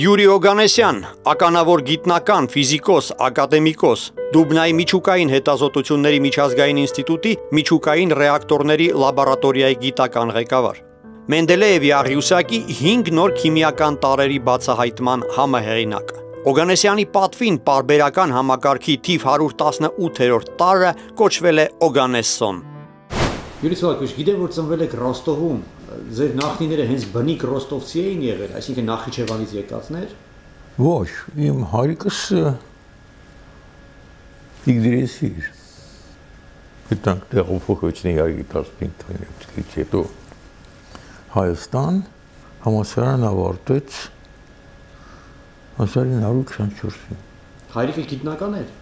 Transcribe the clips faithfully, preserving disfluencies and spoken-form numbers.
Յուրի Օգանեսյան, ականավոր գիտնական, ֆիզիկոս, ակադեմիկոս, Դուբնայի միջուկային հետազոտությունների միջազգային ինստիտուտի միջուկային ռեակտորների լաբորատորիայի գիտական ղեկավար։ Մենդելեևի աղյուսակի հինգ նոր քիմիական տարրերի բացահայտման համահեղինակը։ Օգանեսյանի պատվին պարբերական համակարգի թիվ հարյուր տասնութերորդ տարրը կոչվել է Օգանեսսոն։ Յուրի Սողակովիչ, գիտեմ, որ ծնվել եք Ռոստովում, ձեր նախնիները հենց բնիկ ռոստովցի էին եղել, այսինքն Նախիջևանից եկածներ։ Ոչ, իմ հայրիկս Իգդրեսի էր։ Գտանք տեղափոխվեցին իհարկե տասնպինջ տարեկանից հետո Հայաստան, համալսարան ավարտեց հազար ինը հարյուր քսանչորսին։ Հայրիկը գիտնական էր։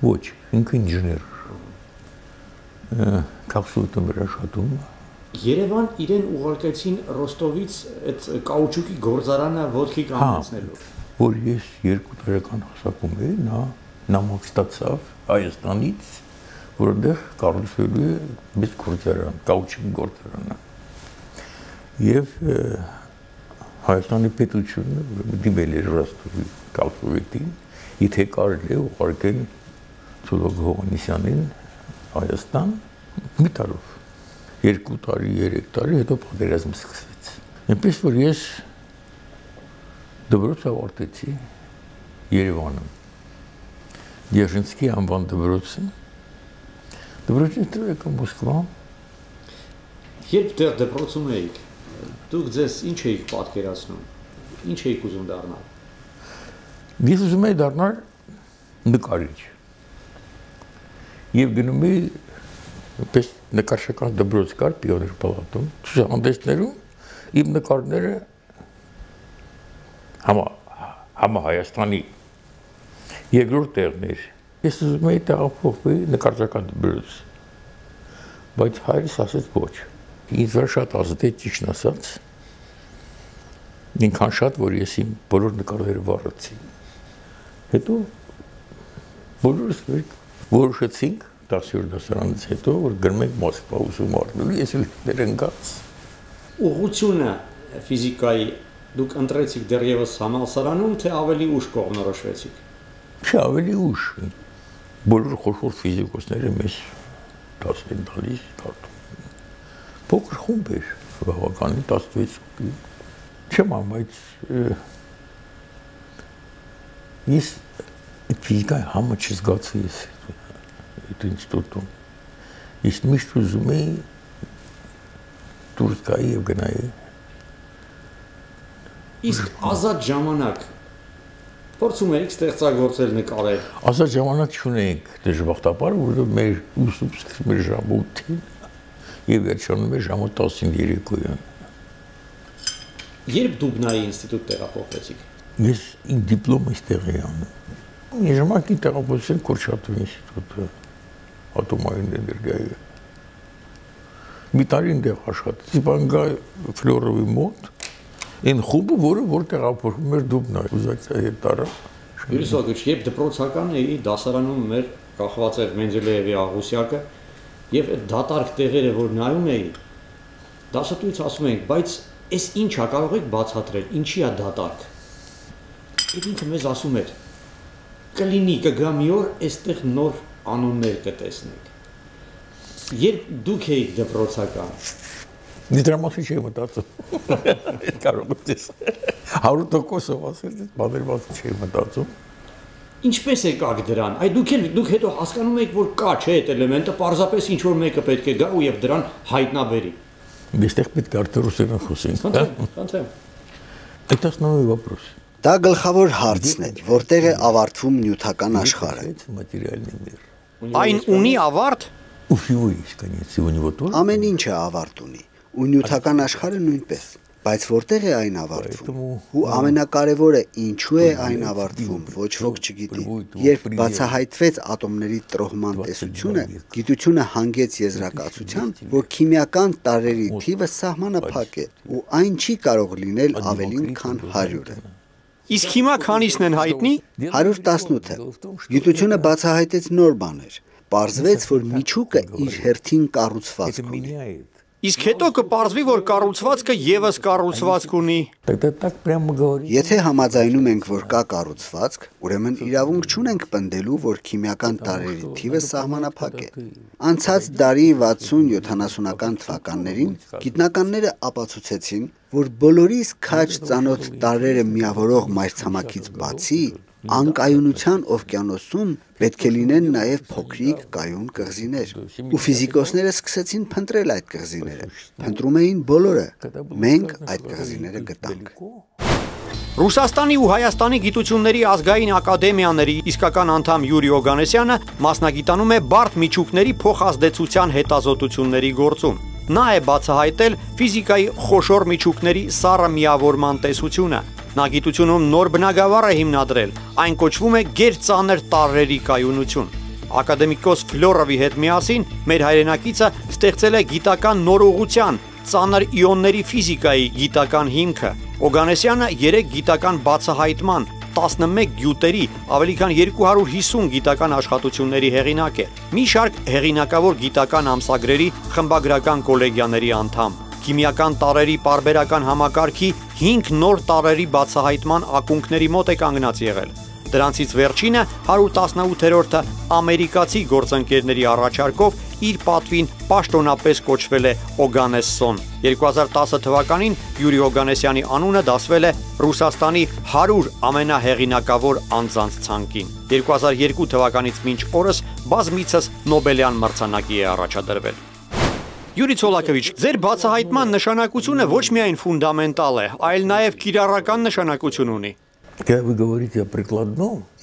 Ոչ, ինքը ինժեներ։ Կապսուլտում էր աշխատում։ Երևան իրեն ուղարկեցին Ռոստովից այդ կաուչուկի գործարանը ոտքի կանգնեցնելու։ Որ ես երկու տարեկան հասակում էի, նա նամակ ստացավ Հայաստանից, որտեղ կառուցվելու է մեծ գործարան, կաուչուկի գործարանը։ Եվ Հայաստանի պետությունը դիմել էր Ռոստովի կապսուլետին, եթե կարելի է ուղարկել Ցոլոկ Հովհաննիսյանին Հայաստան մի տարով, երկու տարի, երեք տարի, հետո պատերազմը սկսվեց։ Այնպես որ ես դպրոց ավարտեցի Երևանում, Դերժինսկի անվան դպրոցը, դպրոցից հետո եկա Մոսկվա։ Երբ դեռ դպրոցում էիք, դուք ձեզ ինչ էիք պատկերացնում, ինչ էիք ուզում դառնալ։ Ես ուզում էի դառնալ նկարիչ։ Եվ գնում էի պես նկարչական դպրոց կար Պիոներ պալատում, ցուցահանդեսներում իմ նկարները համա համա Հայաստանի երկրորդ տեղն էր։ Ես ուզում էի տեղափոխվել նկարչական դպրոց, բայց հայրս ասեց ոչ։ Ինձ վրա շատ ազդեց, ճիշտն ասած, ինքան շատ, որ ես իմ բոլոր նկարները վառեցի։ Հետո բոլորս որոշեցինք տասնյոթ դասարանից հետո, որ գնում ենք Մոսկվա ուսում առնելու, ես էլ դեր ընկած։ Ուղղությունը ֆիզիկայի դուք ընտրեցիք դեռևս համալսարանում, թե ավելի ուշ կողմնորոշվեցիք։ Չէ, ավելի ուշ։ Բոլոր խոշոր ֆիզիկոսները մեզ դաս են տալիս, կարդում։ Փոքր խումբ էր, բավականին տասնվեց։ Չեմ ամ, բայց ես ֆիզիկայի համը չզգացի ես այդ ինստիտուտում։ Ես միշտ ուզում էի դուրս գայի և գնայի։ Իսկ ազատ ժամանակ փորձում էիք ստեղծագործել, նկարել։ Ազատ ժամանակ չունեինք դժբախտաբար, որովհետև մեր ուսումը սկսվում էր ժամը ութին և վերջանում էր ժամը տասին երեկոյան։ Երբ Դուբնայի ինստիտուտ տեղափոխվեցիք։ Ես իմ դիպլոմը այստեղ էի անում։ Ժամանակի տեղափոխեցին Կուրչատովի ինստիտուտը, ատոմային էներգիայի։ Մի տարի այնտեղ աշխատեցի Վանգայ Ֆլորովի մոտ, այն խումբը, որը որ տեղափոխվում էր Դուբնա, ուզակցիա հետ տարա։ Յուրի Սողակովիչ, երբ դպրոցական էի, դասարանում մեր կախված էր Մենդելեևի աղյուսակը, եւ այդ դատարկ տեղերը, որ նայում էի, դասատուից ասում էինք, բայց այս ի՞նչ է, կարող եք բացատրել, ինչի է դատարկ։ Եվ ինքը մեզ ասում էր, կլինի կգա մի օր, այստեղ նոր անուններ կտեսնեք։ Երբ դուք էիք դպրոցական։ Դրա մասին չէի մտածում։ Կարող ես հարյուր տոկոսով ասել, բաների մասին չէի մտածում։ Ինչպես եկաք դրան։ Այ դուք էլ դուք հետո հասկանում եք, որ կա չէ այդ էլեմենտը, պարզապես ինչ որ մեկը պետք է գա ու եւ դրան հայտնաբերի։ Այստեղ պետք է արդեն ռուսերեն խոսենք։ Խնդրեմ, խնդրեմ։ Это основной вопрос։ Դա գլխավոր հարցն է, որտեղ է ավարտվում նյութական աշխարհը։ Այն ունի ավարտ։ Ամեն ինչը ավարտ ունի, ու նյութական աշխարհը նույնպես, բայց որտեղ է այն ավարտվում։ Ու ամենակարևորը ինչու է այն ավարտվում, ոչ ոք չգիտի։ Երբ բացահայտվեց ատոմների տրոհման տեսությունը, գիտությունը հանգեց եզրակացության, որ քիմիական տարրերի թիվը սահմանափակ է, ու այն չի կարող լինել ավելին, քան հարյուրը։ Իսկ հիմա քանիսն են հայտնի։ հարյուր տասնութը։ Գիտությունը բացահայտեց նոր բաներ։ Պարզվեց, որ միջուկը իր հերթին կառուցվածք ունի։ Իսկ հետո կպարզվի, որ կառուցվածքը եւս կառուցվածք ունի։ Եթե համաձայնում ենք, որ կա կառուցվածք, ուրեմն իրավունք չունենք պնդելու, որ քիմիական տարրերի թիվը սահմանափակ է։ Անցած դարի վաթսուն-յոթանասունական թվականներին գիտնականները ապացուցեցին, որ բոլորիս քաջ ծանոթ տարրերը միավորող մայրցամաքից բացի անկայունության օվկիանոսում պետք է լինեն նաև փոքրիկ կայուն կղզիներ, ու ֆիզիկոսները սկսեցին փնտրել այդ կղզիները, փնտրում էին բոլորը, մենք այդ կղզիները գտանք։ Ռուսաստանի ու Հայաստանի գիտությունների ազգային ակադեմիաների իսկական անդամ Յուրի Օգանեսյանը մասնագիտանում է բարդ միջուկների փոխազդեցության հետազոտությունների գործում։ Նա է բացահայտել ֆիզիկայի խոշոր միջուկների սառը միավորման տեսությունը։ Նա գիտությունում նոր բնագավառ է հիմնադրել, այն կոչվում է գերծանր տարրերի կայունություն։ Ակադեմիկոս Ֆլորովի հետ միասին մեր հայրենակիցը ստեղծել է գիտական նորողության, ծանր իոնների ֆիզիկայի գիտական հիմքը։ Օգանեսյանը երեք գիտական բացահայտման, տասնմեկ գյուտերի, ավելի քան երկու հարյուր հիսուն գիտական աշխատությունների հեղինակ է։ Մի շարք հեղինակավոր գիտական ամսագրերի խմբագրական կոլեգիաների անդամ։ Քիմիական տարրերի պարբերական համակարգի հինգ նոր տարրերի բացահայտման ակունքների մոտ է կանգնած եղել։ Դրանցից վերջինը հարյուր տասնութերորդը ամերիկացի գործընկերների առաջարկով իր պատվին պաշտոնապես կոչվել է Օգանեսսոն։ երկու հազար տասը թվականին Յուրի Օգանեսյանի անունը դասվել է Ռուսաստանի հարյուր ամենահեղինակավոր անձանց ցանկին։ երկու հազար երկու թվականից մինչ օրս բազմիցս Նոբելյան մրցանակի է առաջադրվել։ Յուրի Ցոլակովիչ, ձեր բացահայտման նշանակությունը ոչ միայն ֆունդամենտալ է, այլ նաև կիրառական նշանակություն ունի։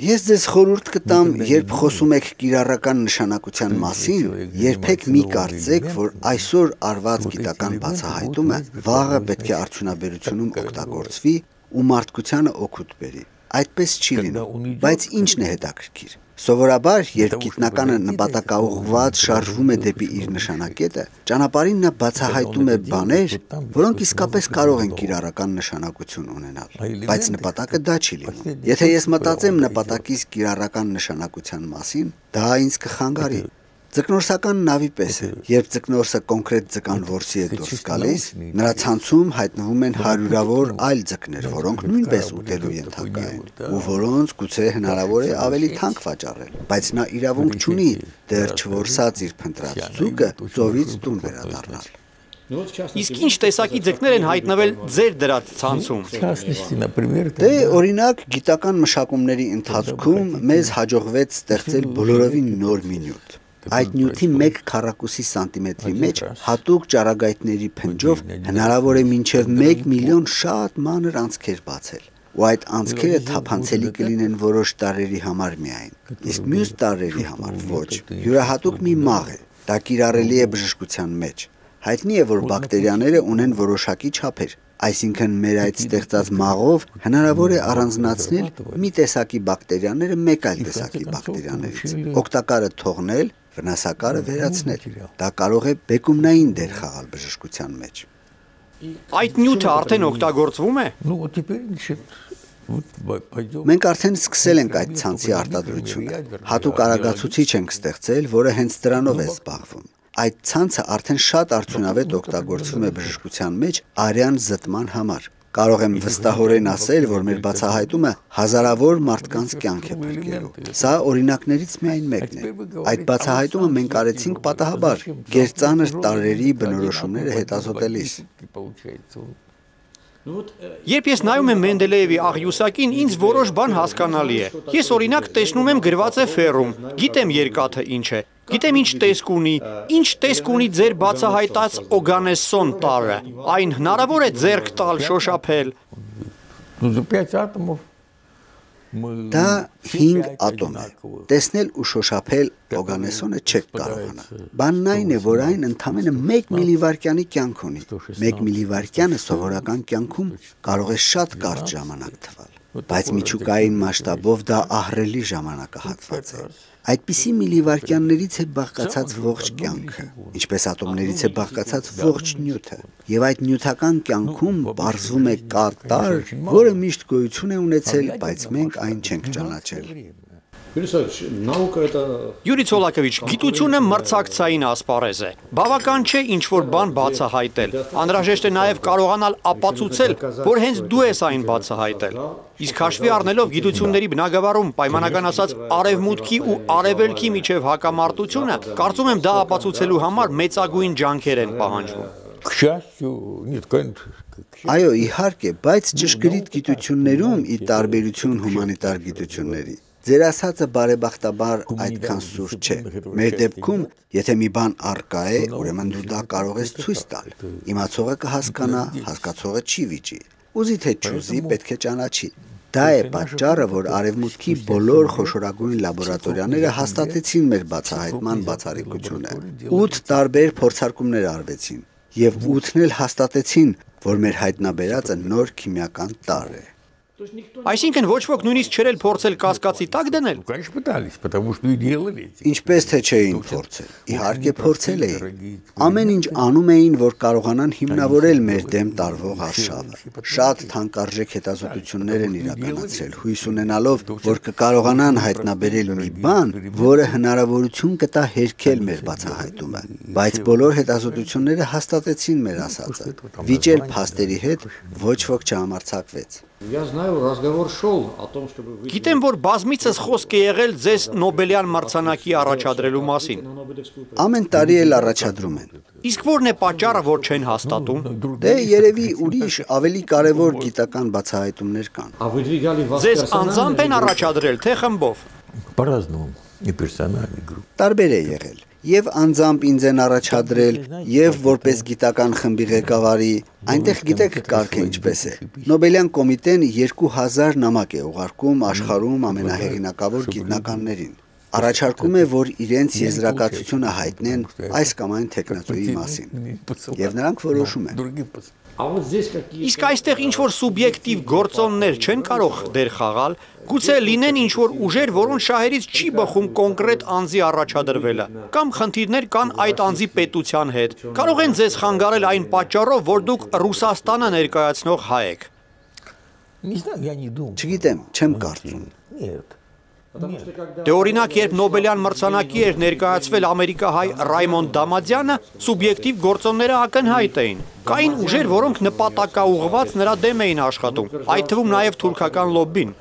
Ես ձեզ խորհուրդ կտամ, երբ խոսում եք կիրառական նշանակության մասին, երբեք մի կարծեք, որ այսօր արված գիտական բացահայտումը վաղը պետք է արդյունաբերությունում օգտագործվի ու մարդկությանը օգուտ բերի։ Այդպես չի լինում, բայց ինչն է հետաքրքիր։ Սովորաբար, երբ գիտնականը նպատակաուղղված շարժվում է դեպի իր նշանակետը, ճանապարհին նա բացահայտում է բաներ, որոնք իսկապես կարող են կիրառական նշանակություն ունենալ, բայց նպատակը դա չի լինում։ Եթե ես մտածեմ նպատակից կիրառական նշանակության մասին, դա ինձ կխանգարի։ Ձկնորսական նավի պես է, երբ ձկնորսը կոնկրետ ձկան որսի է դուրս գալիս, նրա ցանցում հայտնվում են հարյուրավոր այլ ձկներ, որոնք նույնպես ուտելու ենթակա են, ու որոնց գուցե հնարավոր է ավելի թանկ վաճառել, բայց նա իրավունք չունի դեռ չորսած իր փնտրած ձուկը ծովից տուն վերադառնալ։ Իսկ ինչ տեսակի ձկներ են հայտնվել ձեր դրած ցանցում։ Դե օրինակ գիտական մշակումների ընթացքում մեզ հաջողվեց ստեղծել բոլորովին նոր մի նյութ։ Այդ նյութի մեկ քառակուսի սանտիմետրի մեջ հատուկ ճառագայթների փնջով հնարավոր է մինչև մեկ միլիոն շատ մանր անցքեր բացել։ Ու այդ անցքերը թափանցելի կլինեն որոշ տարրերի համար միայն, իսկ մյուս տարրերի համար ոչ։ Յուրահատուկ մի մաղ է, դա կիրառելի է բժշկության մեջ։ Հայտնի է, որ բակտերիաները ունեն որոշակի չափեր, այսինքն մեր այդ ստեղծած մաղով հնարավոր է առանձնացնել մի տեսակի բակտերիաները մեկ այլ տեսակի բակտերիաներից, օգտակարը թողնել, վնասակարը վերացնել։ Դա կարող է բեկումնային դեր խաղալ բժշկության մեջ։ Այդ նյութը արդեն օգտագործվում է։ Մենք արդեն սկսել ենք այդ ցանցի արտադրությունը։ Հատուկ արագացուցիչ ենք ստեղծել, որը հենց դրանով է զբաղվում։ Այդ ցանցը արդեն շատ արդյունավետ օգտագործվում է բժշկության մեջ արյան զտման համար։ Կարող եմ վստահորեն ասել, որ մեր բացահայտումը հազարավոր մարդկանց կյանք է փրկելու։ Սա օրինակներից միայն մեկն է։ Այդ բացահայտումը մենք արեցինք պատահաբար, գերծանր տարրերի բնորոշումները հետազոտելիս։ Երբ ես նայում եմ Մենդելեևի աղյուսակին, ինձ որոշ բան հասկանալի է։ Ես օրինակ տեսնում եմ գրված է ֆերում, գիտեմ երկաթը ինչ է, գիտեմ ինչ տեսք ունի, ինչ տեսք ունի ձեր բացահայտած Օգանեսսոն տարրը, այն հնարավոր է ձեռք տալ, շոշափել։ Դա հինգ ատոմ է։ Տեսնել ու շոշափել Օգանեսսոնը չեք կարողանա։ Բանն այն է, որ այն ընդամենը մեկ միլիվարկյանի կյանք ունի։ Մեկ միլիվարկյանը սովորական կյանքում կարող է շատ կարճ ժամանակ թվալ, բայց միջուկային մասշտաբով դա ահռելի ժամանակահատված է։ Այդպիսի միլիվարկյաններից է բաղկացած ողջ կյանքը, ինչպես ատոմներից է բաղկացած ողջ նյութը։ Եվ այդ նյութական կյանքում բարձվում է կա տարր, որը միշտ գոյություն է ունեցել, բայց մենք այն չենք ճանաչել։ Յուրի Ցոլակովիչ, գիտությունը մրցակցային ասպարեզ է։ Բավական չէ ինչ-որ բան բացահայտել։ Անհրաժեշտ է նաև կարողանալ ապացուցել, որ հենց դու ես այն բացահայտել։ Իսկ հաշվի առնելով գիտությունների բնագավառում պայմանական ասած արևմուտքի ու արևելքի միջև հակամարտությունը, կարծում եմ դա ապացուցելու համար մեծագույն ջանքեր են պահանջվում։ Այո, իհարկե, բայց ճշգրիտ գիտություններում ի տարբերություն հումանիտար գիտությունների ձեր ասածը բարեբախտաբար այդքան սուրճ չէ։ Մեր դեպքում, եթե մի բան առկա է, ուրեմն դու դա կարող ես ցույց տալ։ Իմացողը կհասկանա, հասկացողը չի վիճի։ Ուզի թե չուզի, պետք է ճանաչի։ Դա է պատճառը, որ արևմուտքի բոլոր խոշորագույն լաբորատորիաները հաստատեցին մեր բացահայտման բացառիկությունը։ ութ տարբեր փորձարկումներ արվեցին, եւ ութն էլ հաստատեցին, որ մեր հայտնաբերածը նոր քիմիական տարր է։ Այսինքն ոչ ոք նույնիսկ չէր էլ փորձել կասկածի տակ դնել։ Ինչպես թե չէին փորձել։ Իհարկե փորձել էին։ Ամեն ինչ անում էին, որ կարողանան հիմնավորել մեր դեմ տարվող արշավը։ Շատ թանկարժեք հետազոտություններ են իրականացրել, հույս ունենալով, որ կկարողանան հայտնաբերել մի բան, որը հնարավորություն կտա հերքել մեր բացահայտումը։ Բայց բոլոր հետազոտությունները հաստատեցին մեր ասածը։ Վիճել փաստերի հետ ոչ ոք չհամարձակվեց։ Գիտեմ, որ բազմիցս խոսք է եղել ձեզ Նոբելյան մրցանակի առաջադրելու մասին։ Ամեն տարի էլ առաջադրում են։ Իսկ ո՞րն է պատճառը, որ չեն հաստատում։ Դե երևի ուրիշ ավելի կարևոր գիտական բացահայտումներ կան։ Ձեզ անձամբ են առաջադրել, թե խմբով։ Տարբեր է եղել։ Եվ անձամբ ինձ են առաջադրել, եւ որպես գիտական խմբի ղեկավարի, այնտեղ գիտեք կարգը ինչպես է։ Նոբելյան կոմիտեն երկու հազար նամակ է ուղարկում աշխարհում ամենահեղինակավոր գիտնականներին։ Առաջարկում է, որ իրենց եզրակացությունը հայտնեն այս կամ այն տեխնոլոգիայի մասին։ Եվ նրանք որոշում են։ Իսկ այստեղ ինչ-որ սուբյեկտիվ գործոններ չեն կարող դեր խաղալ, գուցե լինեն ինչ-որ ուժեր, որոնց շահերից չի բխում կոնկրետ անձի առաջադրվելը, կամ խնդիրներ կան այդ անձի պետության հետ։ Կարող են ձեզ խանգարել այն պատճառով, որ դուք Ռուսաստանը ներկայացնող հայ եք։ Չգիտեմ, չեմ կարծում։ Դե օրինակ, երբ Նոբելյան մրցանակի էր ներկայացվել ամերիկահայ Ռայմոնդ Դամադյանը, սուբյեկտիվ գործոնները ակնհայտ էին։ Կային ուժեր, որոնք նպատակաուղղված նրա դեմ էին աշխատում, այդ թվում նաև թուրքական լոբբին։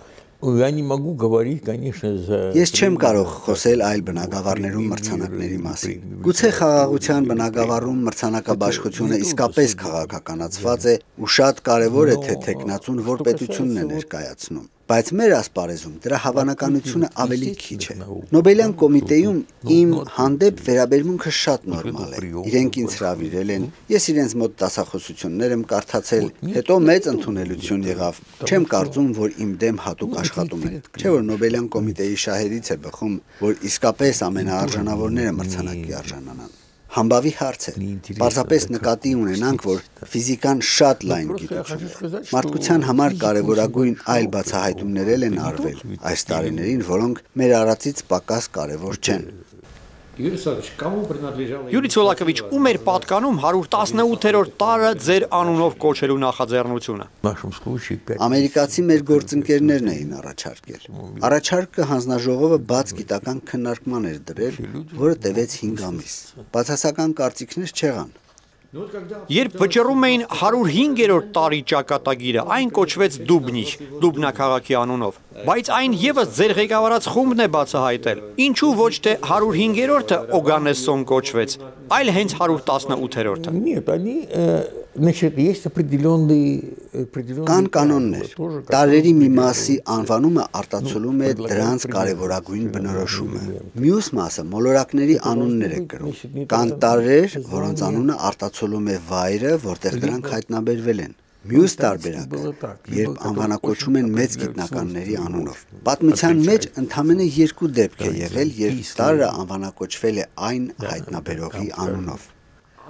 Ես չեմ կարող խոսել այլ բնագավառներում մրցանակների մասին։ Գուցե խաղաղության բնագավառում մրցանակաբաշխությունը իսկապես քաղաքականացված է ու շատ կարևոր է, թե տեխնացուն որ պետությունն է ներկայացնում։ Բայց մեր ասպարեզում դրա հավանականությունը ավելի քիչ է։ Նոբելյան կոմիտեում իմ հանդեպ վերաբերմունքը շատ նորմալ է։ Իրենք ինձ հրավիրել են, ես իրենց մոտ դասախոսություններ եմ կարդացել, հետո մեծ ընդունելություն եղավ։ Չեմ կարծում, որ իմ դեմ հատուկ աշխատում են։ Չէ՞ որ Նոբելյան կոմիտեի շահերից է բխում, որ իսկապես ամենաարժանավորները մրցանակի արժանանան։ Համբավի հարց է։ Պարզապես նկատի ունենանք, որ ֆիզիկան շատ լայն գիտություն է։ Մարդկության համար կարևորագույն այլ բացահայտումներ են արվել այս տարիներին, որոնք մեր արածից պակաս կարևոր չեն։ Յուրի Ցոլակովիչ, ում էր պատկանում հարյուր տասնութերորդ տարը ձեր անունով կոչելու նախաձեռնությունը։ Ամերիկացի մեր գործընկերներն էին առաջարկել։ Առաջարկը հանձնաժողովը բաց գիտական քննարկման էր դրել, որը տևեց հինգ ամիս։ Բացասական կարծիքներ չեղան։ Երբ վճռում էին հարյուր հինգերորդ տարի ճակատագիրը, այն կոչվեց Դուբնիչ, Դուբնա քաղաքի անունով, բայց այն եւս ձեր ղեկավարած խումբն է բացահայտել։ Ինչու ոչ թե հարյուր հինգերորդը Օգանեսսոն կոչվեց, այլ հենց հարյուր տասնութերորդը։ Կան կանոններ։ Տարրերի մի մասի անվանումը արտացոլում է դրանց կարևորագույն բնորոշումը։ Մյուս մասը մոլորակների անուններ է կրում։ Կան տարրեր, որոնց անունը արտացոլում է վայրը, որտեղ դրանք հայտնաբերվել են։ Մյուս տարբերակը, երբ անվանակոչում են մեծ գիտնականների անունով։ Պատմության մեջ ընդամենը երկու դեպք է եղել, երբ տարրը անվանակոչվել է այն հայտնաբերողի անունով։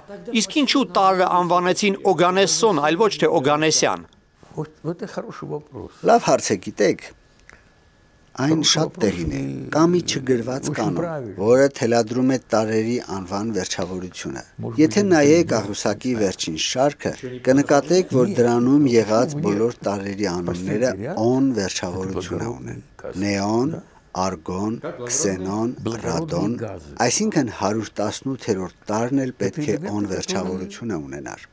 Իսկ ինչու տարրը անվանեցին Օգանեսսոն, այլ ոչ թե Օգանեսյան։ Լավ հարց է, գիտեք։ Այն շատ տեղին է։ Կա մի չգրված կանոն, որը թելադրում է տարրերի անվան վերջավորությունը։ Եթե նայեք աղյուսակի վերջին շարքը, կնկատեք, որ դրանում եղած բոլոր տարրերի անունները օն վերջավորությունը ունեն։ Նեոն, Արգոն, քսենոն, ռադոն, այսինքն հարյուր տասնութերորդ տարն էլ պետք է անվերջավորությունը ունենար։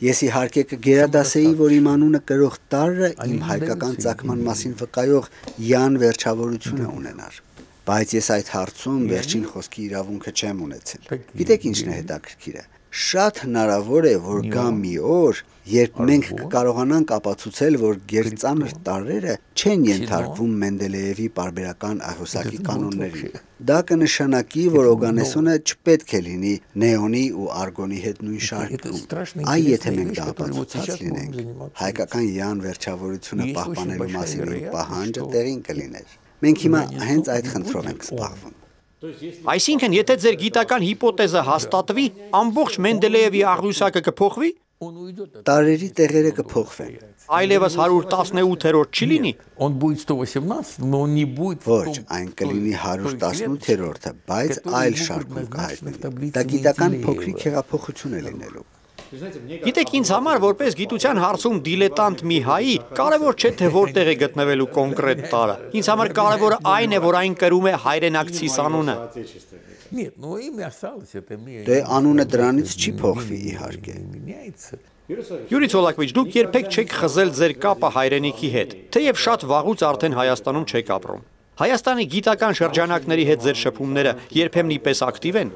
Ես իհարկե կգերադասեի, որ իմ անունը կրող տարրը իմ հայկական ծագման մասին վկայող յան վերջավորությունը ունենար։ Բայց ես այդ հարցում վերջին խոսքի իրավունքը չեմ ունեցել։ Գիտեք ինչն է հետաքրքիրը։ Շատ հնարավոր է, որ գա մի օր, երբ մենք կկարողանանք ապացուցել, որ գերծանր տարրերը չեն ենթարկվում Մենդելեևի պարբերական ահյուսակի կանոններին։ Դա կնշանակի, որ օրգանիզմը չպետք է լինի նեոնի ու արգոնի հետ նույն շարքում։ Այ եթե մենք դա ապացուցած լինենք, հայկական յան վերջավորությունը պահպանելու մասին իմ պահանջը տեղին կլիներ։ Մենք հիմա հենց այդ խնդրով ենք զբաղվում։ Այսինքն, եթե ձեր գիտական հիպոթեզը հաստատվի, ամբողջ Մենդելեևի աղյուսակը կփոխվի։ Տարրերի տեղերը կփոխվեն։ Այլևս հարյուր տասնութերորդ չի լինի։ Ոչ, այն կլինի հարյուր տասնութերորդը, բայց այլ շարքում կհայտնվի։ Դա գիտական փոքրիկ հեղափոխություն է լինելու։ Գիտեք, ինձ համար որպես գիտության հարցում դիլետանտ մի հայի կարևոր չէ թե որտեղ է գտնվելու կոնկրետ տարը։ Ինձ համար կարևորը այն է, որ այն կրում է հայրենակցիս անունը։ Դե անունը դրանից չի փոխվի իհարկե։ Յուրի Ցոլակովիչ, դուք երբեք չեք խզել ձեր կապը հայրենիքի հետ, թեև շատ վաղուց արդեն Հայաստանում չեք ապրում։ Հայաստանի գիտական շրջանակների հետ ձեր շփումները երբեմն իպես ակտիվ են։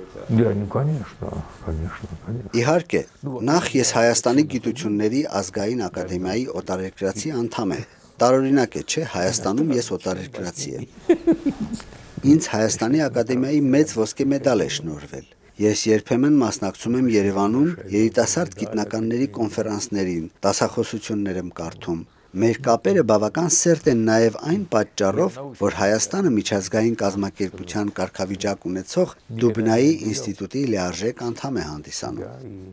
Իհարկե, նախ ես Հայաստանի գիտությունների ազգային ակադեմիայի օտարերկրացի անդամ եմ։ Տարօրինակ է, չէ, Հայաստանում ես օտարերկրացի եմ։ Ինձ Հայաստանի ակադեմիայի մեծ ոսկե մեդալ է շնորհվել։ Ես երբեմն մասնակցում եմ Երևանում երիտասարդ գիտնականների կոնֆերանսներին, դասախոսություններ եմ կարդում։ Մեր կապերը բավական սերտ են նաև այն պատճառով, որ Հայաստանը միջազգային կազմակերպության կարգավիճակ ունեցող Դուբնայի ինստիտուտի լիարժեք անդամ է հանդիսանում։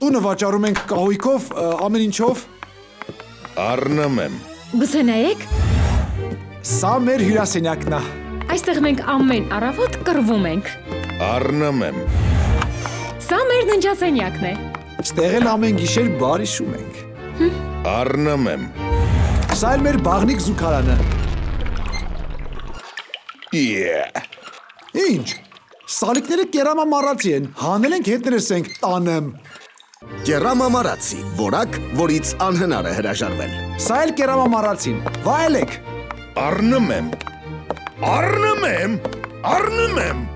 Տունը վաճառում ենք կահույքով, ամեն ինչով։ Առնում եմ։ Գուցե նայեք։ Սա մեր հյուրասենյակն է։ Այստեղ մենք ամեն առավոտ կռվում ենք։ Առնում եմ։ Սա մեր ննջասենյակն է։ Ստեղ էլ ամեն գիշեր բար հիշում ենք։ Առնում եմ։ Սա էլ մեր բաղնիկ զուգարանը։ Yeah։ Ինչ։ Սալիկները կերամամարացի են, հանել ենք հետներս ենք տանեմ։ Կերամամարացի, որակ, որից անհնար է հրաժարվել։ Սա էլ կերամամարացին, վայելեք։ Առնում եմ։ Առնում եմ։ Առնում եմ։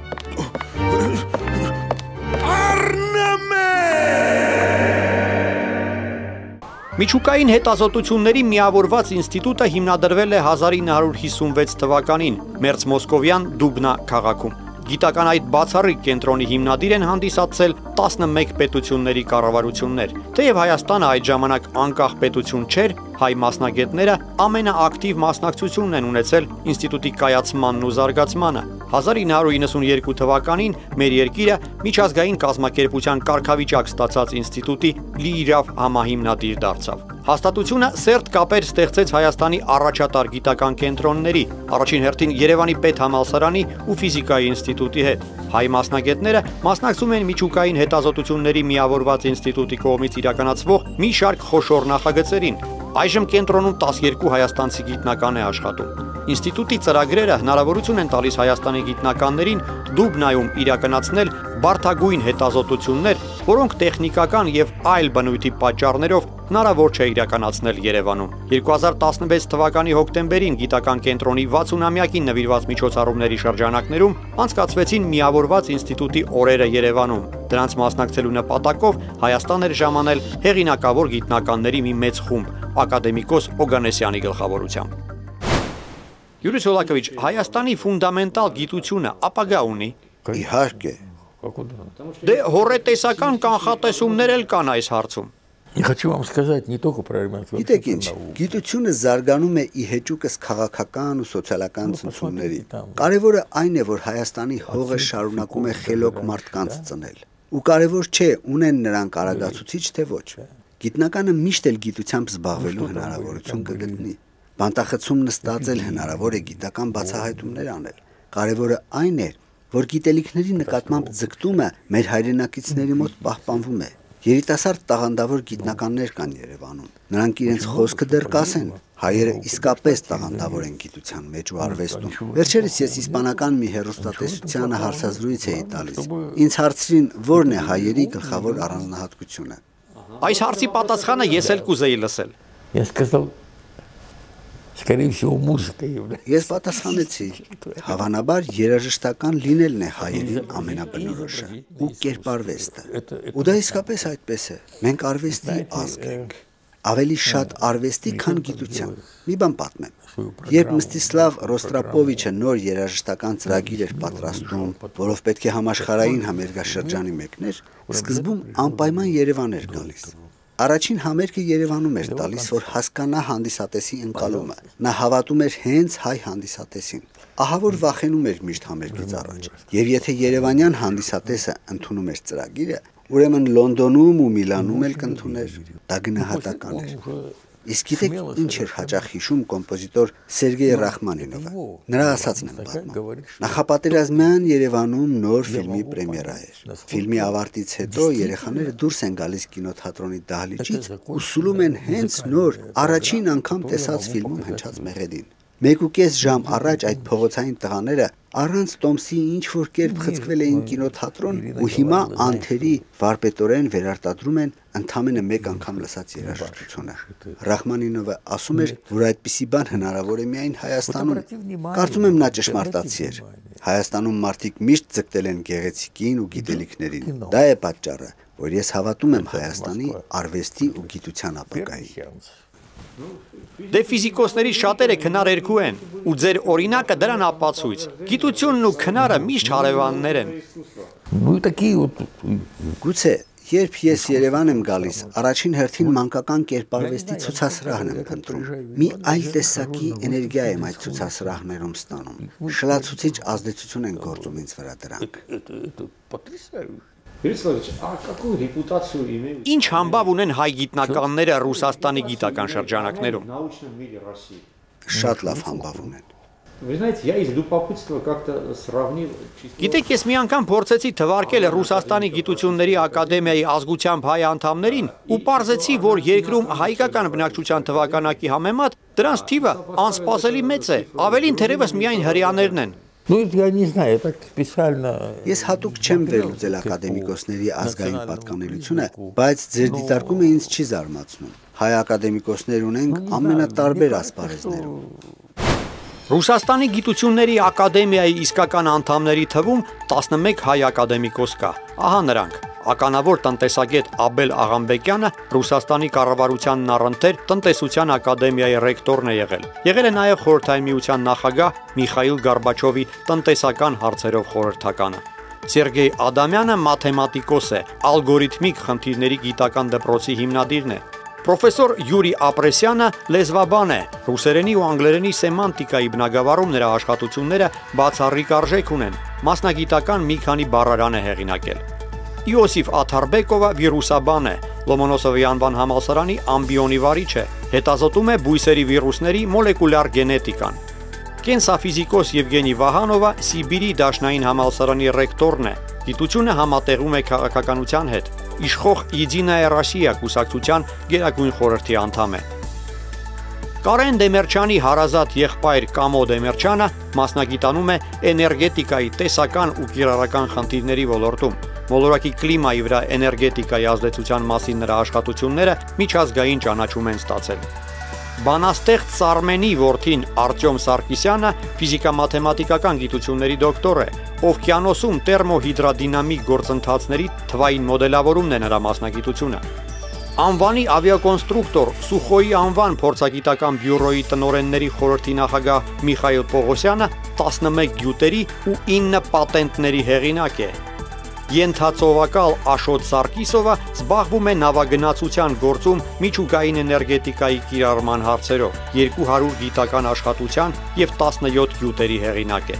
Առնում եմ։ Միջուկային հետազոտությունների միավորված ինստիտուտը հիմնադրվել է հազար ինը հարյուր հիսունվեց թվականին Մերձ Մոսկովյան Դուբնա քաղաքում։ Գիտական այդ բացառիկ կենտրոնի հիմնադիր են հանդիսացել տասնմեկ պետությունների կառավարություններ։ Թեև Հայաստանը այդ ժամանակ անկախ պետություն չէր, հայ մասնագետները ամենաակտիվ մասնակցությունն են ունեցել ինստիտուտի կայացմանն ու զարգացմանը։ հազար ինը հարյուր իննսունյերկու թվականին մեր երկիրը միջազգային կազմակերպության կարգավիճակ ստացած ինստիտուտի լիիրավ համահիմնադիր դարձավ։ Հաստատությունը սերտ կապեր ստեղծեց Հայաստանի առաջատար գիտական կենտրոնների, առաջին հերթին Երևանի պետհամալսարանի ու ֆիզիկայի ինստիտուտի հետ։ Հայ մասնագետները մասնակցում են միջուկային հետազոտությունների միավորված ինստիտուտի կողմից իրականացվող մի շարք խոշոր նախագծերին։ Այժմ կենտրոնում տասներկու հայաստանցի գիտնական է աշխատում։ Ինստիտուտի ծրագրերը հնարավորություն են տալիս Հայաստանի գիտնականներին Դուբնայում իրականացնել բարդագույն հետազոտություններ, որոնք տեխնիկական եւ այլ բնույթի պատճառներով հնարավոր չէ իրականացնել Երևանում։ երկու հազար տասնվեց թվականի հոկտեմբերին գիտական կենտրոնի վաթսունամյակին նվիրված միջոցառումների շրջանակներում անցկացվեցին միավորված ինստիտուտի օրերը Երևանում։ Դրանց մասնակցելու նպատակով Հայաստան էր ժամանել հեղինակավոր գիտնականների մի մեծ խումբ, ակադեմիկոս Օգանեսյանի գլխավորությամբ։ Յուրի Ցոլակովիչ, Հայաստանի ֆունդամենտալ գիտությունը ապագա ունի։ Իհարկե։ Դե հորետեսական կանխատեսումներ էլ կան այս հարցում։ Хочу вам сказать не только про ремонт. Գիտեք ինչ, գիտությունը զարգանում է ի հեճուկս քաղաքական ու սոցիալական ցնցումների։ Կարևորը այն է, որ Հայաստանի հողը շարունակում է խելոք մարդկանց ծնել։ Ու կարևոր չէ, ունեն նրանք արագացուցիչ թե ոչ։ Գիտնականը միշտ էլ գիտությամբ զբաղվելու հնարավորություն կգտնի։ Բանտախցում նստած էլ հնարավոր է գիտական բացահայտումներ անել։ Կարևորը այն է, որ գիտելիքների նկատմամբ ձգտումը մեր հայրենակիցների մոտ պահպանվում է։ Երիտասարդ տաղանդավոր գիտնականներ կան Երևանում։ Նրանք իրենց խոսքը դեռ կասեն։ Հայերը իսկապես տաղանդավոր են գիտության մեջ ու արվեստում։ Վերջերս ես իսպանական մի հեռուստատեսությանը հարցազրույց էի տալիս։ Ինձ հարցրին, ո՞րն է հայերի գլխավոր առանձնահատկությունը։ Այս հարցի պատասխանը ես էլ կուզեի լսել։ Ես сказал, скорее всего, музыка является։ Ես պատասխանեցի, հավանաբար երաժշտական լինելն է հայերին ամենաբնորոշը ու կերպարվեստը։ Ու դա իսկապես այդպես է։ Մենք արվեստի ազգ ենք։ Ավելի շատ արվեստի, քան գիտության։ Մի բան պատմեմ։ Երբ Մստիսլավ Ռոստրապովիչը նոր երաժշտական ծրագիր էր պատրաստում, որով պետք է համաշխարհային համերգաշրջանի մեկներ, սկզբում անպայման Երևան էր գալիս։ Առաջին համերգը Երևանում էր տալիս, որ հասկանա հանդիսատեսի ընկալումը։ Նա հավատում էր հենց հայ հանդիսատեսին։ Ահա որ վախենում էր միշտ համերգից առաջ։ Եվ եթե երևանյան հանդիսատեսը ընդունում էր ծրագիրը, ուրեմն Լոնդոնում ու Միլանում էլ կընդուներ։ Դա գնահատական էր։ Իսկ գիտեք ինչ էր հաճախ հիշում կոմպոզիտոր Սերգեյ Ռախմանինովը։ Նրա ասածն եմ պատմում։ Նախապատերազմյան Երևանում նոր ֆիլմի պրեմիերա էր։ Ֆիլմի ավարտից հետո երեխաները դուրս են գալիս կինոթատրոնի դահլիճից ու սուլում են հենց նոր առաջին անգամ տեսած ֆիլմում հնչած մեղեդին։ Մեկ ու կես ժամ առաջ այդ փողոցային տղաները առանց տոմսի ինչ որ կերպ խցկվել էին կինոթատրոն ու հիմա անթերի վարպետորեն վերարտադրում են ընդամենը մեկ անգամ լսած երաժշտությունը։ Ռախմանինովը ասում էր, որ այդպիսի բան հնարավոր է միայն Հայաստանում։ Կարծում եմ նա ճշմարտացի էր։ Հայաստանում մարդիկ միշտ ձգտել են գեղեցիկին ու գիտելիքներին։ Դա է պատճառը, որ ես հավատում եմ Հայաստանի արվեստի ու գիտության ապագային։ Դե ֆիզիկոսների շատերը քնարերկու են, ու ձեր օրինակը դրան ապացույց։ Գիտությունն ու քնարը միշտ հարևաններ են։ Գուցե, երբ ես Երևան եմ գալիս, առաջին հերթին մանկական կերպարվեստի ցուցասրահն եմ փնտրում։ Մի այլ տեսակի էներգիա եմ այդ ցուցասրահներում ստանում։ Շլացուցիչ ազդեցություն են գործում ինձ վրա դրանք։ Ինչ համբավ ունեն հայ գիտնականները Ռուսաստանի գիտական շրջանակներում։ Շատ լավ համբավ ունեն։ Գիտեք, ես մի անգամ փորձեցի թվարկել Ռուսաստանի գիտությունների ակադեմիայի ազգությամբ հայ անդամներին ու պարզեցի, որ երկրում հայկական բնակչության թվականակի համեմատ դրանց թիվը անսպասելի մեծ է, ավելին թերևս միայն հրեաներն են։ Ну, я не знаю, так специально. Ես հատուկ չեմ վերլուծել ակադեմիկոսների ազգային պատկանելությունը, բայց ձեր դիտարկումը ինձ չի զարմացնում։ Հայ ակադեմիկոսներ ունենք ամենատարբեր ասպարեզներում։ Ռուսաստանի գիտությունների ակադեմիայի իսկական անդամների թվում տասնմեկ հայ ակադեմիկոս կա։ Ահա նրանք. ականավոր տնտեսագետ Աբել Աղամբեկյանը Ռուսաստանի կառավարությանն առընթեր տնտեսության ակադեմիայի ռեկտորն է եղել։ Եղել է նաև Խորհրդային Միության նախագահ Միխայիլ Գորբաչովի տնտեսական հարցերով խորհրդականը։ Սերգեյ Ադամյանը մաթեմատիկոս է, ալգորիթմիկ խնդիրների գիտական դպրոցի հիմնադիրն է։ Պրոֆեսոր Յուրի Ապրեսյանը լեզվաբան է, ռուսերենի ու անգլերենի սեմանտիկայի բնագավառում նրա աշխատությունները բացառիկ արժեք ունեն, մասնագիտական մի քանի բառարան է հեղինակել։ Իոսիֆ Աթարբեկովը վիրուսաբան է, Լոմոնոսովի անվան համալսարանի ամբիոնի վարիչ է, հետազոտում է բույսերի վիրուսների մոլեկուլյար գենետիկան։ Կենսաֆիզիկոս Եվգենի Վահանովը Սիբիրի դաշնային համալսարանի ռեկտորն է, գիտությունը համատեղում է քաղաքականության հետ, իշխող Եդինայա Ռոսիա կուսակցության գերագույն խորհրդի անդամ է։ Կարեն Դեմերչյանի հարազատ եղբայր Կամո Դեմերչյանը մասնագիտանում է էներգետիկայի տեսական ու կիրառական խնդիրների ոլորտում։ Մոլորակի կլիմայի վրա էներգետիկայի ազդեցության մասին նրա աշխատությունները միջազգային ճանաչում են ստացել։ Բանաստեղծ Սարմենի որդին Արտյոմ Սարգսյանը ֆիզիկա-մաթեմատիկական գիտությունների դոկտոր է, օվկիանոսում տերմոհիդրադինամիկ գործընթացների թվային մոդելավորումն է նրա մասնագիտությունը։ Անվանի ավիակոնստրուկտոր Սուխոյի անվան փորձագիտական բյուրոյի տնօրենների խորհրդի նախագահ Միխայիլ Պողոսյանը տասնմեկ գյուտերի ու ինը պատենտների հեղինակ է։ Ենթածովակալ Աշոտ Սարգիսովը զբաղվում է նավագնացության գործում միջուկային էներգետիկայի կիրառման հարցերով, երկու հարյուր գիտական աշխատության և տասնյոթ գյուտերի հեղինակ է։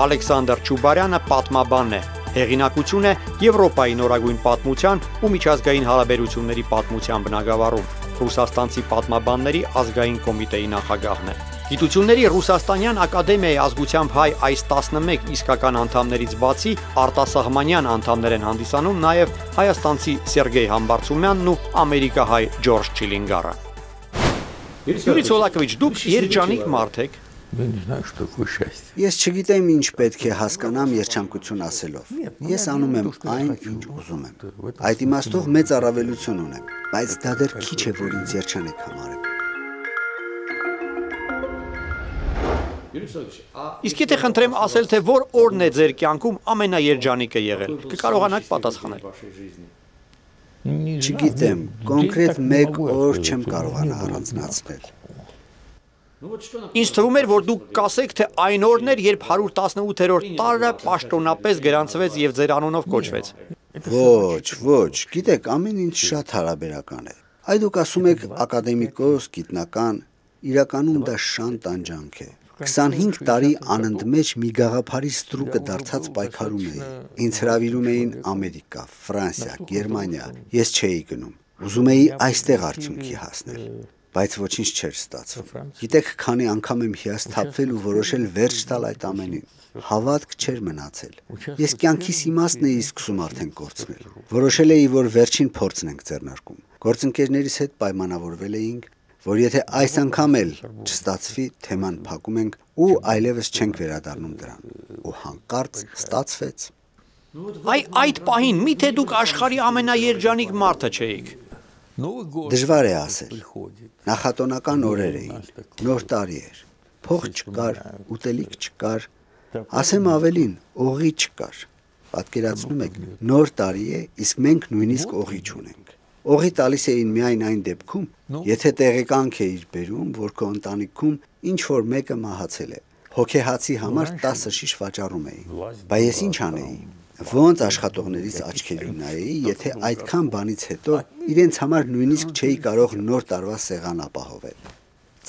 Ալեքսանդր Չուբարյանը պատմաբան է, հեղինակություն է Եվրոպայի նորագույն պատմության ու միջազգային հարաբերությունների պատմության բնագավառում, ռուսաստանցի պատմաբանների ազգային կոմիտեի նախագահն է։ Գիտությունների Ռուսաստանյան ակադեմիայի ազգությամբ հայ այս տասնմեկ իսկական անդամներից բացի արտասահմանյան անդամներ են հանդիսանում նաև հայաստանցի Սերգեյ Համբարձումյանն ու ամերիկահայ Ջորջ Չիլինգարը։ Յուրի Ցոլակովիչ, դուք երջանիկ մարդ եք։ Ես չգիտեմ ինչ պետք է հասկանամ երջանկություն ասելով։ Ես անում եմ այն, ինչ ուզում եմ։ Այդ իմաստով մեծ առավելություն ունեմ, բայց դա դեռ քիչ է, որ ինձ երջանիկ համարեք։ Իսկ եթե խնդրեմ ասել, թե որ օրն է ձեր կյանքում ամենաերջանիկը եղել, կկարողանաք պատասխանել։ Չգիտեմ, կոնկրետ մեկ օր չեմ կարողանա առանձնացնել։ Ինձ թվում էր, որ դուք կասեք, թե այն օրն էր, երբ հարյուր տասնութերորդ տարը պաշտոնապես գրանցվեց եւ ձեր անունով կոչվեց։ Ոչ, ոչ, գիտեք, ամեն ինչ շատ հարաբերական է։ Այ դուք ասում եք ակադեմիկոս, գիտնական, իրականում դա շան տանջանք է։ քսանհինգ տարի անընդմեջ մի գաղափարի ստրուկը դարձած պայքարում էի։ Ինձ հրավիրում էին Ամերիկա, Ֆրանսիա, Գերմանիա։ Ես չէի գնում։ Ուզում էի այստեղ արդյունքի հասնել, բայց ոչինչ չէր ստացվում։ Գիտեք, քանի անգամ եմ հիասթափվել ու որոշել վերջ տալ այդ ամենին։ Հավատք չէր մնացել։ Ես կյանքիս իմաստն էի սկսում արդեն կորցնել։ Որոշել էի, որ վերջին փորձն ենք ձեռնարկում։ Գործընկերներիս հետ պայմանավորվել էինք, որ եթե այս անգամ էլ չստացվի, թեման փակում ենք ու այլևս չենք վերադառնում դրան։ Ու հանկարծ ստացվեց։ Այ այդ պահին միթե դուք աշխարհի ամենաերջանիկ մարդը չէիք։ Դժվար է ասել։ Նախատոնական օրեր էին, նոր տարի էր, փող չկար, ուտելիք չկար, ասեմ ավելին, օղի չկար։ Պատկերացնում եք, նոր տարի է, իսկ մենք նույնիսկ օղի չունենք։ Օղի տալիս էին միայն այն դեպքում, եթե տեղեկանք էիր բերում, որ քո ընտանիքում ինչ որ մեկը մահացել է։ Հոգեհացի համար տասը շիշ վաճառում էի։ Բայց ես ինչ անեի։ Ոնց աշխատողներից աչքերի նայեի, եթե այդքան բանից հետո իրենց համար նույնիսկ չէի կարող նոր տարվա սեղան ապահովել։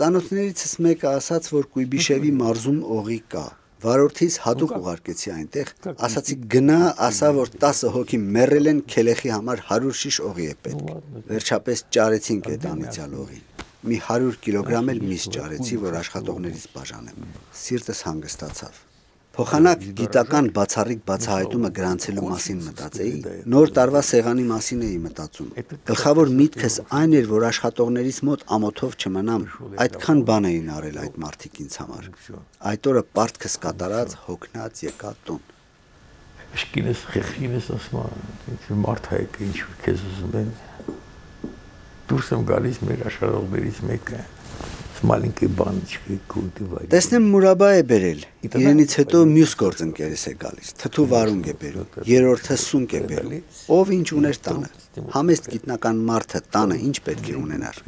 Ծանոթներիցս մեկը ասաց, որ Կույբիշևի մարզում օղի կա։ Վարորդից հատուկ ուղարկեցի այնտեղ, ասացի գնա, ասա, որ տասը հոգի մեռել են, քելեխի համար հարյուր շիշ օղի է պետք։ Վերջապես ճարեցինք այդ անիծյալ օղին։ Մի հարյուր կիլոգրամ էլ միս ճարեցի, որ աշխատողներից բաժանեմ։ Սիրտս հանգստացավ։ Փոխանակ գիտական բացառիկ բացահայտումը գրանցելու մասին մտածեի, նոր տարվա սեղանի մասին էի մտածում։ Գլխավոր միտքս այն էր, որ աշխատողներից մոտ ամոթով չմնամ, այդքան բան էին արել այդ մարդիկ ինձ համար։ Այդ օրը պարտքս կատարած, հոգնած եկա տուն։ Իշկինս խեղինս ասում եմ, մարդ հայք ինչ քեզ ուզում են։ Դուրս եմ գալիս մեր աշխատողներից մեկը։ Маленький баночкой կուլտիվարի։ Տեսնեմ Մուրաբա է բերել։ Իրենից հետո մյուս գործընկերս է գալիս։ Թթու վարունգ է բերում։ Երրորդը սունկ է բերում։ Ով ինչ ուներ տանը։ Համեստ գիտնական մարդը տանը ինչ պետք է ունենար։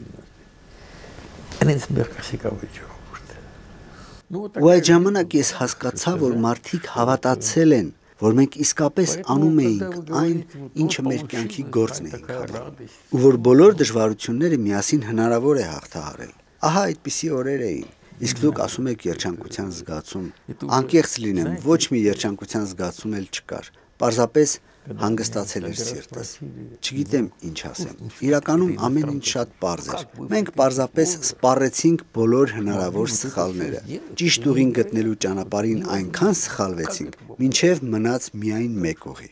Այնպես մերկասի կավիճ։ Ու այդ ժամանակ ես հասկացա, որ մարդիկ հավատացել են, որ մենք իսկապես անում էինք այն, ինչը մեր կյանքի գործն էինք արել։ Ու որ բոլոր դժվարությունները միասին հնարավոր է հաղթահարել։ Ահա այդպիսի օրեր էին, իսկ դուք ասում եք երջանկության զգացում, անկեղծ լինեմ, ոչ մի երջանկության զգացում էլ չկար, պարզապես հանգստացել էր սիրտս, չգիտեմ ինչ ասեմ, իրականում ամեն ինչ շատ պարզ էր, մենք պարզապես սպառեցինք բոլոր հնարավոր սխալները, ճիշտ ուղին գտնելու ճանապարհին այնքան սխալվեցինք, մինչև մնաց միայն մեկ ուղի։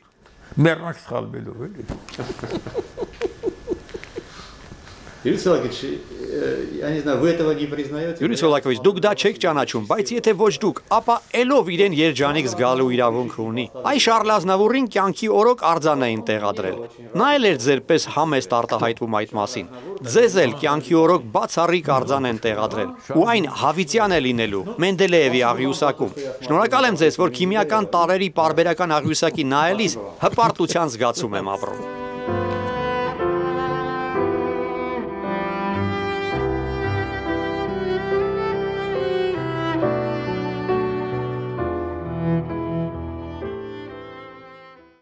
Մեռնակ սխալվելով էլի։ Юрий Солакович, я не знаю, вы этого не признаете? Յուրի Ցոլակովիչ, դուք դա չեք ճանաչում, բայց եթե ոչ դուք, ապա ելով իրեն երջանիկ զգալու իրավունք ունի։ Այ Շարլ Ազնավուրին կյանքի օրոք արձան էին տեղադրել։ Նա էլ էր ձեր պես համեստ արտահայտվում այդ մասին։ Ձեզ էլ կյանքի օրոք բացառիկ արձան են տեղադրել։ Ու այն հավիտյան է լինելու Մենդելեևի աղյուսակում։ Շնորհակալ եմ ձեզ, որ քիմիական տարրերի պարբերական աղյուսակի նայելիս հպարտության զգացում եմ ապրում։